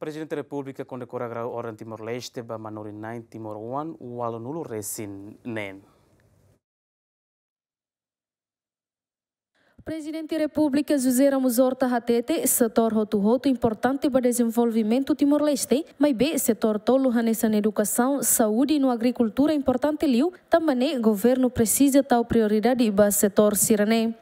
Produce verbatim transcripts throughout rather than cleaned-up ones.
Prezidente Repúblika kondekora grau Orden Timor-Leste ba manorin-na'in timoroan ualunulu-resin-neen. Prezidente Repúblika José Ramos Horta hatete, setór hotu-hotu importante ba dezenvolvimentu Timor-Leste, maibé setór tolu hanesan edukasaun, saúde no agrikultura importante liu, tanba ne'e governu presiza tau prioridade ba setór sira-ne'e.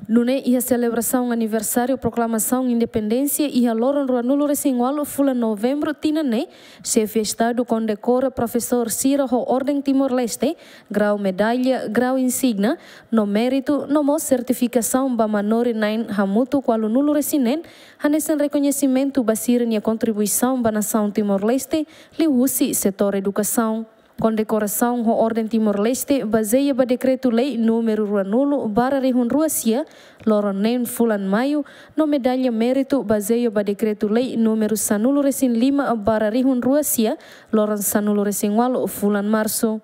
Nune'e iha selebrasaun aniversáriu proklamasaun independénsia iha loron ruanulu-resin-ualu fulan Novembru tinan ne'e, Xefe Estadu kondekora profesór sira ho Orden Timor-Leste, grau medalla, grau insígnia, no méritu, no mós sertifikasaun ba manorin-na'in hamutuk ualunulu-resin-neen, hanesan rekoñesimentu ba sira-nia kontribuisaun ba nasaun Timor-Leste, liuhusi setór edukasaun. Kondekorasaun ho Orden Timor-Leste bazeia ba Dekretu-Lei númeru ruanulu barra rihun rua sia, loron neen fulan Maiu, no Medalla Méritu bazeia ba Dekretu-Lei númeru sanulu-resin-lima barra rihun rua sia, loron sanulu-resin-ualu fulan Marsu.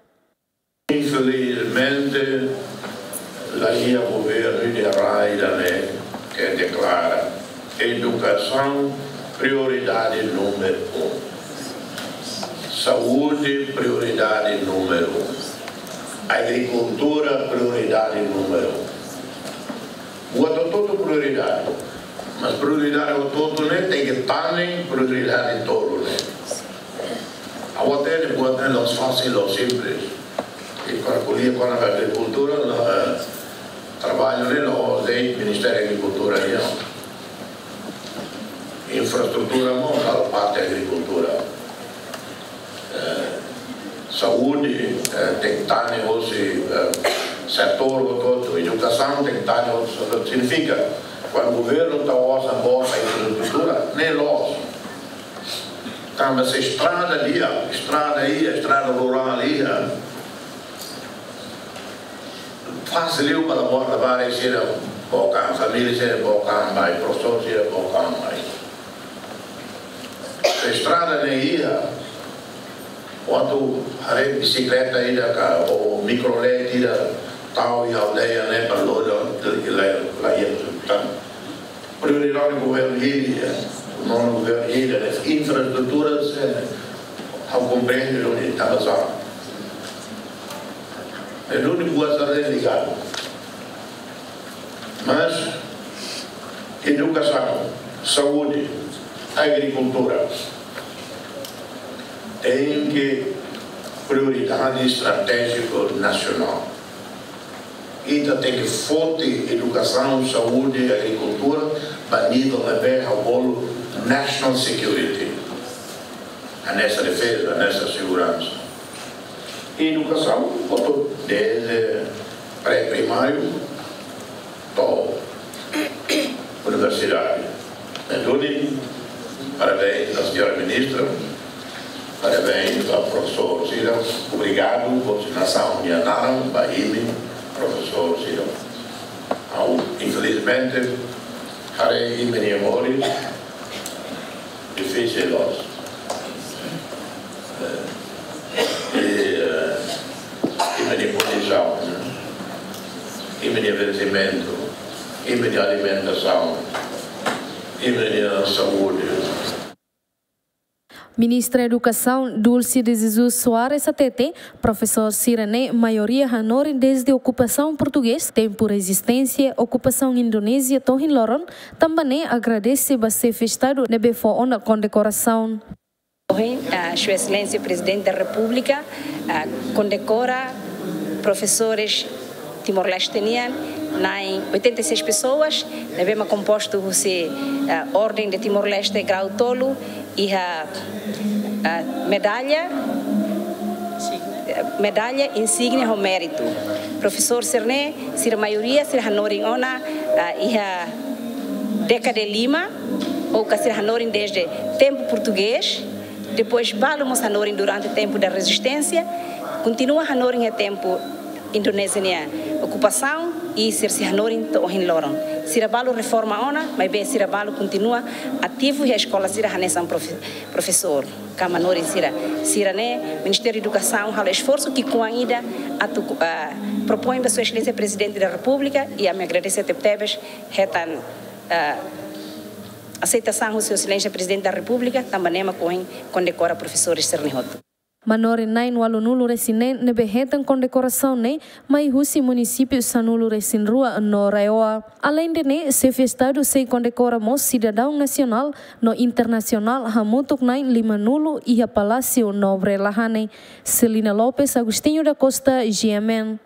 Infelizmente, la iha governu ida rai ida ne'e ke deklara edukasaun prioridade númeru un, saúde prioridade númeru un, agrikultura prioridade númeru un. Buat hotu-hotu prioridade. Mas prioridade hotu-hotu ne'e tenke tane prioridade tolu ne'e. Ha'u hatene buat ne'e la'ós fasil, la'ós simples. I kuandu ko'alia kona-ba agrikultura, la, eh, traballu ne'e la'ós de'it Ministériu Agrikultura nian. Infraestrutura mós halo parte agrikultura. Eh, saúde, eh, tenke tane hosi, eh, setór hotu-hotu, edukasaun tenke tane hosi setór. Signifika, kuandu governu tau osan boot ba infraestrutura, ne'e loos. Tanba se estrada iha, estrada iha, estrada rurál iha, fasil liu para bota bari sira book an, família sira book an mai, profesór sira book an mai. Estrada ne'e iha, kuandu haree bisikleta ida ka, ou mikrolet ida, tau iha aldeia ne'e para loja, la, la, la iha tan. Prioridade governu hili, eh, nonu governu hili, eh, infraestrutura, eh, ha'u komprende duni tanba sá. É duni buat sira ligadu. Mas edukasaun, saúde, agrikultura tenke prioridade estratéjika nasionál. Ita tenke foti edukasaun, saúde, agrikultura ba nivel ne'ebé ha'u bolu national security. Hanesan defeza, hanesan seguransa. Edukasaun, hotu, desde pré-primáriu to'o universidade. Entaun, parabéns ba señora ministra, parabéns ba profesór sira, obrigadu ba nasaun nia naran, ba imi profesór sira. Ha'u, infelizmente, haree imi-nia moris difisil loos. Eh, i, eh, imi-nia kondisaun, imi-nia vestimentu, imi-nia alimentasaun, imi-nia saúde. Ministra Edukasaun Dulce de Jesus Soares hatete, profesór sira-ne'e maioria hanorin desde okupasaun portugés, tempu rezisténsia, okupasaun Indonézia to'o ohin loron, tanba ne'e agradese ba Xefe Estadu ne'ebé fó ona kondekorasaun. Ohin, ah, Sua Exelénsia Prezidente da Repúblika, ah, kondekora profesores Timor-Leste nian, na'in oitenta e seis pessoas, ne'ebé mak kompostu husi, ah, Orden de Timor-Leste grau tolu, iha, ah, medalla, ah, medalla, insígnia ho méritu. Profesór sira-ne'e, sira maioria, sira hanorin ona, ah, iha dékada lima, ou ka sira hanorin desde tempu portugés, depois balu mós hanorin durante tempu da rezisténsia, kontinua hanorin iha tempu Indonézia nia okupasaun, i sira sei hanorin to'o ohin loron. Sira balu reforma ona, maibé sira balu kontinua ativu iha eskola sira hanesan profe-, profesór ka manorin sira. Sira-ne'e, Ministériu Edukasaun halo esforsu ki'ikoan ida atu, ah, propoin ba Sua Exelénsia Prezidente da Repúblika, i ami agradese tebetebes hetan, ah, Aseitasaun husi Sua Exelénsia Prezidente da Repúblika, tanba ne'e mak ohin kondekora profesores sira-ne'e hotu. Manorin na'in ualunulu resin neen ne'ebé hetan kondekorasaun ne'e mai husi munisípiu sanulu resin rua no RAEOA. Aleinde ne'e, Xefe Estadu sei kondekora mós sidadaun nasionál no internasionál hamutuk na'in limanulu iha Palásiu Nobre Lahane. Celina Lopes, Agostinho da Costa, G M N.